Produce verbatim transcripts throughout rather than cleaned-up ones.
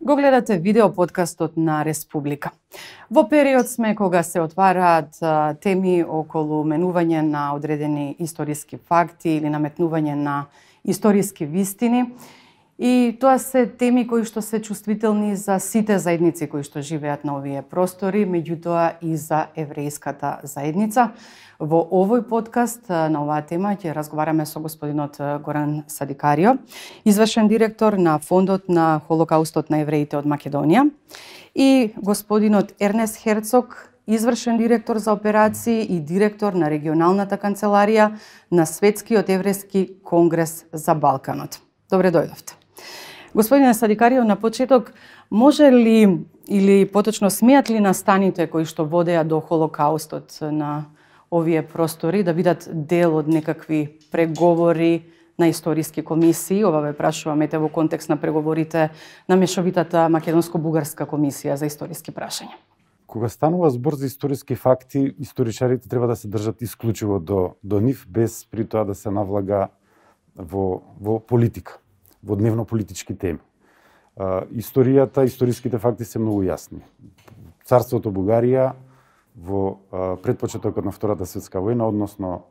Го гледате видео подкастот на Республика. Во период сме кога се отвараат а, теми околу менување на одредени историски факти или наметнување на историски вистини. И тоа се теми кои што се чувствителни за сите заедници кои што живеат на овие простори, меѓутоа и за еврејската заедница. Во овој подкаст на оваа тема ќе разговараме со господинот Горан Садикарио, извршен директор на Фондот на Холокаустот на евреите од Македонија, и господинот Ернест Херцог, извршен директор за операции и директор на регионалната канцеларија на Светскиот еврејски конгрес за Балканот. Добре дојдовте. Господине Садикарио, на почеток, може ли или поточно смеат ли настаните кои што водеа до Холокаустот на овие простори да бидат дел од некакви преговори на историски комисии? Ова ве прашувам ете во контекст на преговорите на мешовитата македонско-бугарска комисија за историски прашања. Кога станува збор за историски факти, историчарите треба да се држат исклучиво до, до нив, без при тоа да се навлага во, во политика, во дневно-политички теми. А, историјата, историските факти се многу јасни. Царството Бугарија во а, предпочетокот на Втората светска војна, односно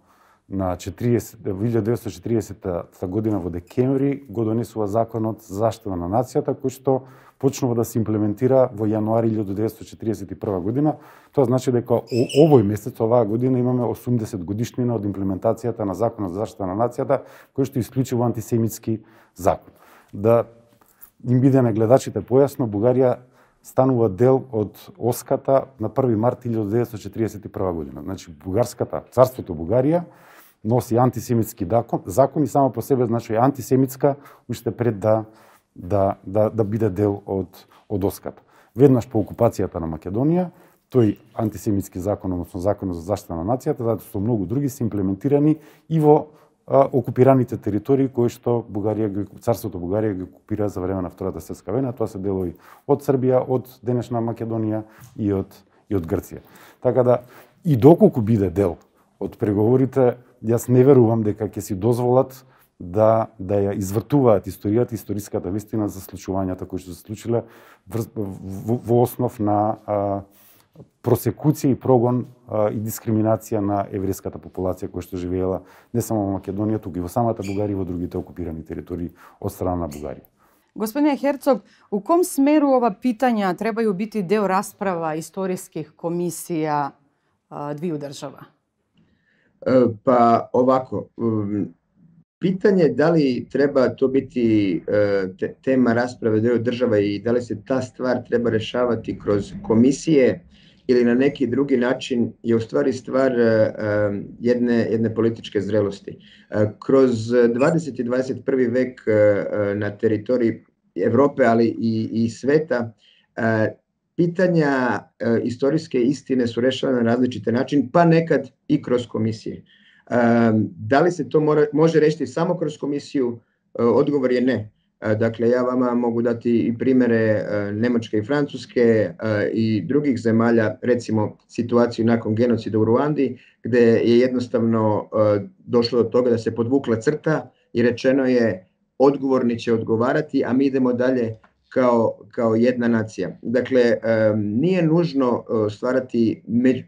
на илјадесетте деветстотини и четиридесетта година во декември, го донесува законот за заштита на нацијата, кој што почнува да се имплементира во јануари илјадесетте и четиридесет и прва година. Тоа значи дека овој месец, оваа година, имаме осумдесет годишнина од имплементацијата на законот за заштита на нацијата, кој што е исклучиво антисемитски закон. Да им биде на гледачите појасно, Бугарија станува дел од Оската на први март илјадесетте и четиридесет и прва година. Значи, бугарската, царството Бугарија носи антисемитски закон и само по себе значи е антисемитска уште пред да да да да биде дел од од Оската. Веднаш по окупацијата на Македонија, тој антисемитски закон, односно законот за заштита на нацијата, затоа со многу други се имплементирани и во а, окупираните територии кои што Бугарија, царството Бугарија ги окупира за време на Втората светска војна. Тоа се делови од Србија, од денешна Македонија и од и од Грција. Така да и доколку биде дел од преговорите, јас не верувам дека ќе си дозволат да да ја извртуваат историјата, историската вистина за случувањата кои што се случиле во, во основ на а, просекуција и прогон а, и дискриминација на еврејската популација која што живеела не само во Македонија, туку и во самата Бугарија и во другите окупирани територии од страна на Бугарија. Господине Херцог, у ком смеру ова питања требају бити дел расправа историских комисија а, двију држава? Па овако, питање дали треба то biti тема расправе две држава и дали се та ствар треба решавати кроз комисије или на неки други начин je u stvari stvar jedne, jedne političke zrelosti. Kroz dvadeseti i dvadeset prvi vek na teritoriji Evrope, ali i, i sveta, pitanja istorijske istine su rešavane na različite način, pa nekad i kroz komisije. Da li se to mora, može rešiti samo kroz komisiju? Odgovor je ne. Dakle, ja vama mogu dati i primere Nemačke i Francuske i drugih zemalja, recimo situaciju nakon genocida u Ruandi, gde je jednostavno došlo do toga da se podvukla crta i rečeno je odgovorni će odgovarati, a mi idemo dalje kao, kao jedna nacija. Dakle, nije nužno stvarati među,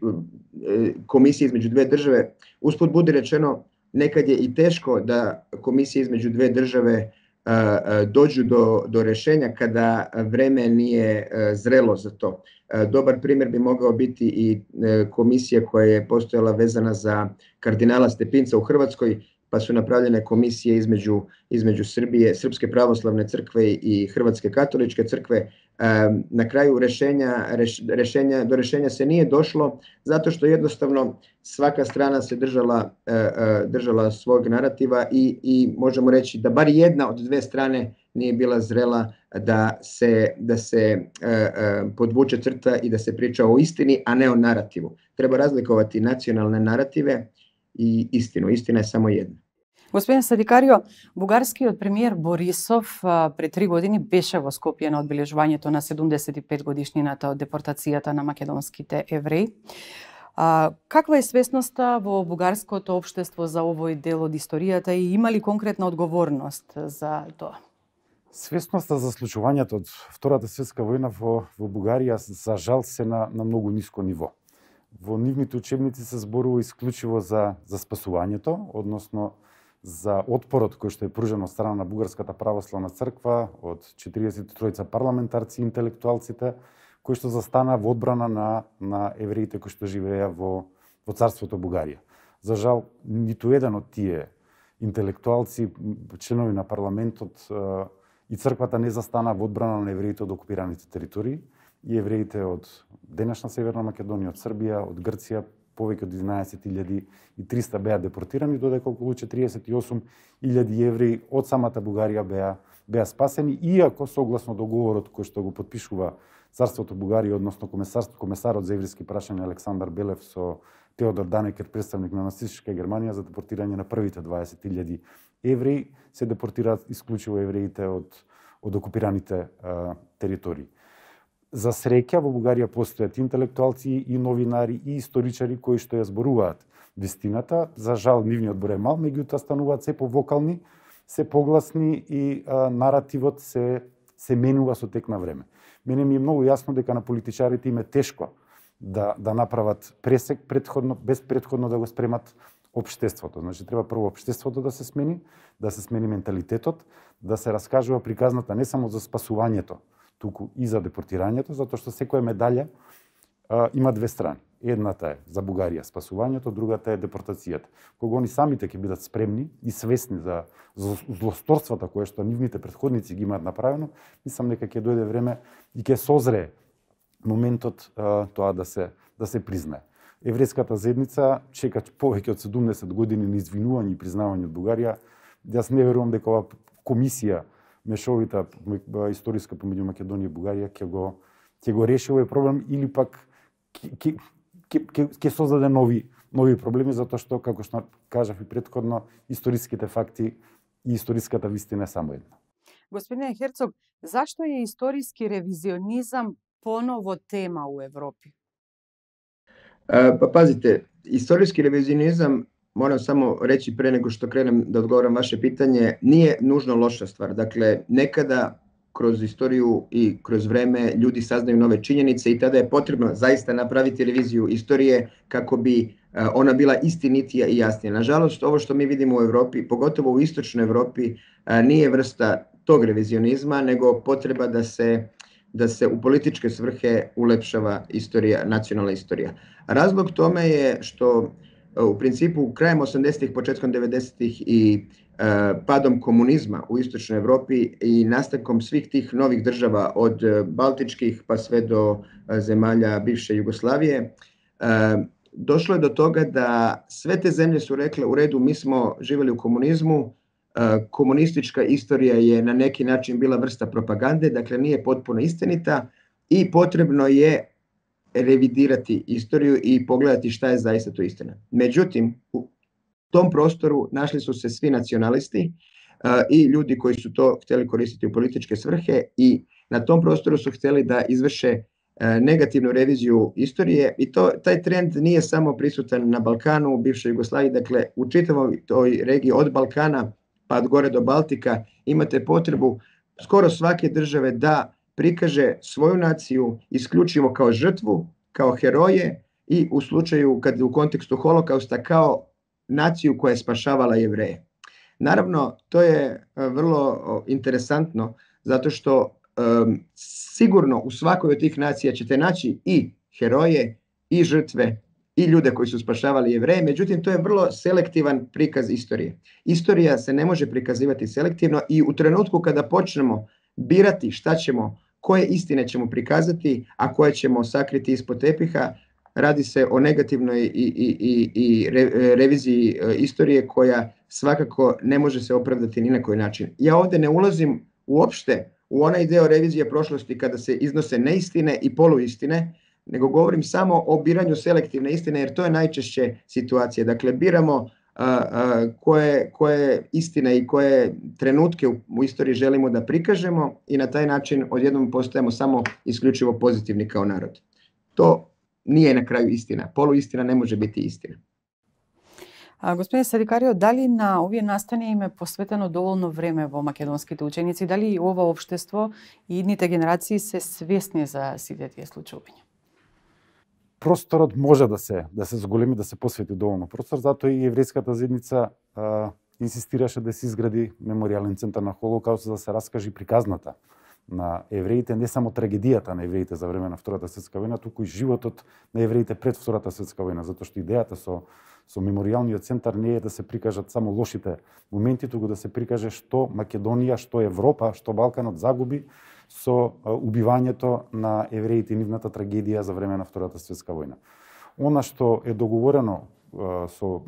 komisije između dve države. Usput budi rečeno, nekad je i teško da komisije između dve države dođu do, do rešenja kada vreme nije zrelo za to. Dobar primjer bi mogao biti i komisija koja je postojala vezana za kardinala Stepinca u Hrvatskoj, pa su napravljene komisije između, između Srbije, Srpske pravoslavne crkve i Hrvatske katoličke crkve. Na kraju rešenja, rešenja, do rešenja se nije došlo zato što jednostavno svaka strana se držala, držala svog narativa i, i možemo reći da bar jedna od dve strane nije bila zrela da se, da se podvuče crta i da se priča o istini, a ne o narativu. Treba razlikovati nacionalne narative и истина. Истина е само една. Господин Садикарио, бугарскиот премиер Борисов пред три години беше во Скопје на одбележувањето на седумдесет и пет годишнината од депортацијата на македонските евреи. Каква е свесноста во бугарското општество за овој дел од историјата и има ли конкретна одговорност за тоа? Свесноста за случувањето од Втората светска војна во, во Бугарија за жал се на, на многу ниско ниво. Во нивните учебници се зборува исклучиво за, за спасувањето, односно за отпорот кој што е пружен од страна на Бугарската православна црква, од четириесет и тројца парламентарци и интелектуалците, кои што застана во одбрана на, на евреите кои што живееа во, во царството Бугарија. За жал, ниту еден од тие интелектуалци, членови на парламентот и црквата не застана во одбрана на евреите од окупираните територии и евреите од денешна Северна Македонија, од Србија, од Грција, повеќе од единаесет илјади и триста беа депортирани, додека околу четириесет и осум илјади евреи од самата Бугарија беа, беа спасени, иако согласно договорот кој што го потпишува Царството Бугарија, односно комесарот за еврејски прашања Александар Белев со Теодор Данекер, представник на нацистичка Германија, за депортирање на првите дваесет илјади евреи, се депортираат исклучиво евреите од, од окупираните а, територии. За среќа во Бугарија постојат интелектуалци и новинари и историчари кои што ја зборуваат вистината. За жал нивниот број е мал, меѓутоа стануваат се повокални, се погласни и а, наративот се се менува со тек на време. Мене ми е многу јасно дека на политичарите им е тешко да да направат пресек претходно, без претходно да го спремат општеството. Значи треба прво општеството да се смени, да се смени менталитетот, да се раскажува приказната не само за спасувањето, туку и за депортирањето, затоа што секоја медалја а, има две страни. Едната е за Бугарија спасувањето, другата е депортацијата. Кога они самите ќе бидат спремни и свесни за, за злосторствата кои што нивните претходници ги имаат направено, мислам дека ќе дојде време и ќе созрее моментот а, тоа да се да се признае. Еврејската заедница чека повеќе од седумдесет години на извинување и признавање од Бугарија. Јас не верувам дека ова комисија мешовита историска помеѓу Македонија и Бугарија ќе го ќе го реши овој проблем или пак ќе ќе ќе создаде нови нови проблеми, затоа што, како што кажав и претходно, историските факти и историската вистина е само една. Господине Херцог, зашто е историски ревизионизам поново тема у Европи? А, па пазите, историски ревизионизам, moram samo reći pre nego što krenem da odgovoram vaše pitanje, nije nužno loša stvar. Dakle, nekada kroz istoriju i kroz vreme ljudi saznaju nove činjenice i tada je potrebno zaista napraviti reviziju istorije kako bi ona bila istinitija i jasnija. Nažalost, ovo što mi vidimo u Evropi, pogotovo u istočnoj Evropi, nije vrsta tog revizionizma, nego potreba da se da se u političke svrhe ulepšava istorija, nacionalna istorija. Razlog tome je što u principu krajem osamdesetih, početkom devedesetih i padom komunizma u istočnoj Evropi i nastankom svih tih novih država od baltičkih pa sve do zemalja bivše Jugoslavije, došlo je do toga da sve te zemlje su rekle u redu, mi smo živjeli u komunizmu, komunistička istorija je na neki način bila vrsta propagande, dakle nije potpuno istinita i potrebno je revidirati istoriju i pogledati šta je zaista to istina. Međutim, u tom prostoru našli su se svi nacionalisti uh, i ljudi koji su to htjeli koristiti u političke svrhe i na tom prostoru su htjeli da izvrše uh, negativnu reviziju istorije i to, taj trend nije samo prisutan na Balkanu, u bivšoj Jugoslaviji, dakle u čitavoj toj regiji od Balkana pa gore do Baltika imate potrebu skoro svake države da prikaže svoju naciju isključivo kao žrtvu, kao heroje i u slučaju kad u kontekstu holokausta kao naciju koja je spašavala Jevreje. Naravno, to je vrlo interesantno zato što um, sigurno u svakoj od tih nacija ćete naći i heroje i žrtve i ljude koji su spašavali Jevreje, međutim to je vrlo selektivan prikaz istorije. Istorija se ne može prikazivati selektivno i u trenutku kada počnemo birati šta ćemo, koje istine ćemo prikazati, a koje ćemo sakriti ispod tepiha, radi se o negativnoj i, i, i, i re, reviziji istorije koja svakako ne može se opravdati ni na koji način. Ja ovdje ne ulazim uopšte u onaj deo revizije prošlosti kada se iznose neistine i poluistine, nego govorim samo o biranju selektivne istine, jer to je najčešće situacija. Dakle, biramo a, a, koje, koje istine i koje trenutke u, u istoriji želimo da prikažemo i na taj način odjednom postajemo samo isključivo pozitivni kao narod. To nije na kraju istina. Poluistina ne može biti istina. А, господине Садикарио, дали на овие настани им е посветено доволно време во македонските ученици? Дали и ова општество и идните генерации се свесни за сите тие случувања? Просторот може да се да се зголеми, да се посвети доволно простор, затоа и еврејската заедница а, инсистираше да се изгради меморијален центар на Холокаустот, за да се раскаже приказната на евреите, не само трагедијата на евреите за време на Втората светска војна, туку и животот на евреите пред Втората светска војна, затоа што идејата со со меморијалниот центар не е да се прикажат само лошите моменти, туку да се прикаже што Македонија, што Европа, што Балканот загуби со убивањето на евреите и нивната трагедија за време на Втората светска војна. Она што е договорено со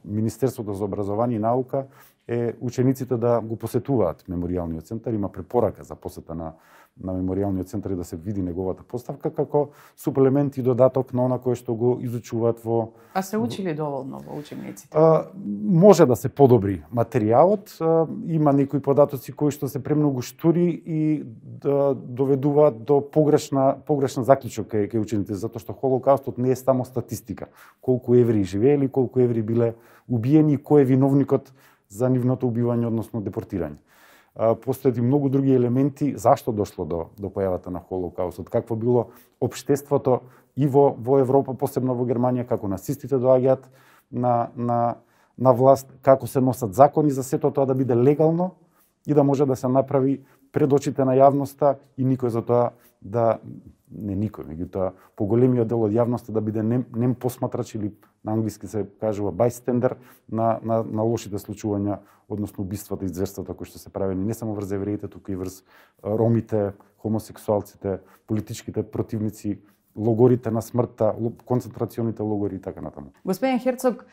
Министерството за образование и наука е учениците да го посетуваат меморијалниот центар. Има препорака за посета на, на меморијалниот центар и да се види неговата поставка како суплемент и додаток на она кое што го изучуваат во... А се учили доволно во учениците? А, може да се подобри материјалот. А, има некои податоци кои што се премногу штури и да доведуваат до погрешна, погрешна заклучок кај, кај учениците, затоа што Холокаустот не е само статистика. Колку евреи живеели, колку евреи биле убиени и кој е виновникот за нивното убивање, односно депортирање. Постојат и многу други елементи зашто дошло до, до појавата на Холокаустот, какво било општеството и во, во Европа, посебно во Германија, како нацистите доаѓаат на, на, на власт, како се носат закони за сето тоа да биде легално и да може да се направи пред очите на јавноста и никој за тоа да не никој, меѓутоа поголемиот дел од јавноста да биде нем, нем посматрач или на англиски се кажува bystander на, на, на лошите случувања, односно убиствата и зверствата кои што се правени не само врз евреите, туку и врз ромите, хомосексуалците, политичките противници, логорите на смртта, концентрационите логори и така натаму. Господин Херцог,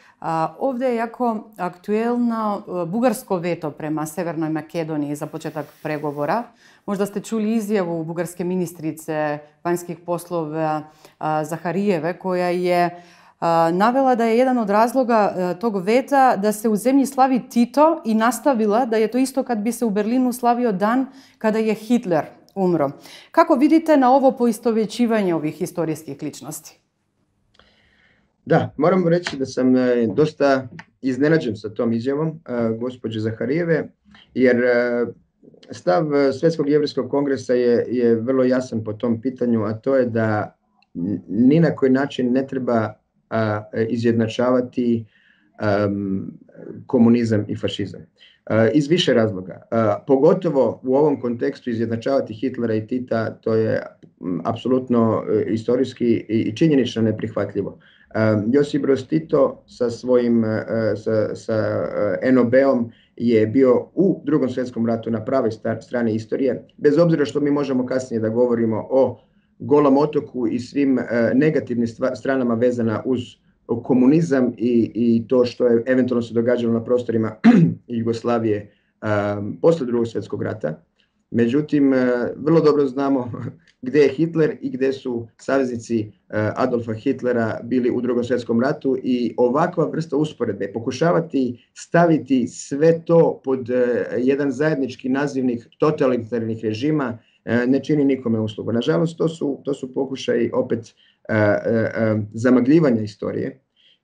овде е јако актуелно бугарско вето према Северној Македонија за почеток преговора. Можда сте чули изјаву бугарске министрице вањских послови Захариеве, која е навела да е еден од разлога тог вета да се уземји слави Тито и наставила да е тоа исто кад би се у Берлину славио дан када е Хитлер умро. Како видите на ово поистовечивање ових историских личности? Да, морам речи да сам доста изненаđen sa tom izjavom gospođe Zaharijeve, jer stav Svetskog jevrijskog kongresa je, je vrlo jasan po tom pitanju, a to je da ni na koji način ne treba a, izjednačavati um, komunizam i fašizam. Uh, iz više razloga. Uh, pogotovo u ovom kontekstu izjednačavati Hitlera i Tita, to je um, apsolutno uh, istorijski i, i činjenično neprihvatljivo. Uh, Josip Broz Tito sa svojim uh, sa, sa uh, en o be-om je bio u Drugom svjetskom ratu na pravoj strani istorije, bez obzira što mi možemo kasnije da govorimo o Golom otoku i svim uh, negativnim stranama vezana uz komunizam i, i to što je eventualno se događalo na prostorima Jugoslavije um, posle Drugog svjetskog rata. Međutim, uh, vrlo dobro znamo gde je Hitler i gde su saveznici uh, Adolfa Hitlera bili u Drugom svjetskom ratu i ovakva vrsta usporedbe, pokušavati staviti sve to pod uh, jedan zajednički nazivnik totalitarnih režima uh, ne čini nikome uslugu. Nažalost, to su, to su pokušaj opet Uh, uh, uh, zamagljivanja istorije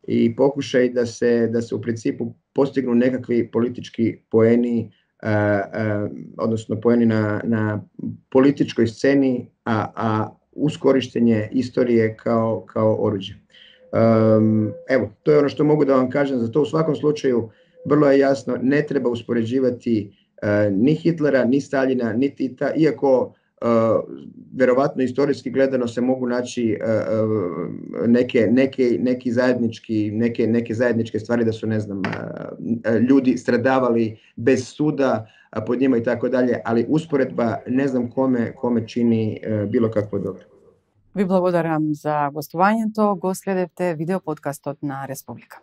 i pokušaj da se, da se u principu postignu nekakvi politički poeni, uh, uh, odnosno poeni na, na političkoj sceni, a, a uz korištenje istorije kao, kao oruđe. Um, evo, to je ono što mogu da vam kažem, za to u svakom slučaju vrlo je jasno, ne treba uspoređivati uh, ni Hitlera, ni Staljina, ni Tita, iako Uh, verovatno istorijski gledano se mogu naći uh, uh, neke, neke, neki zajednički, neke, neke zajedničke stvari da su, ne znam, uh, ljudi stradavali bez suda uh, pod njima i tako dalje, ali usporedba ne znam kome, kome čini uh, bilo kakvo dobro. Ви благодарам за гостувањето. Го следевте видео подкастот на Республика.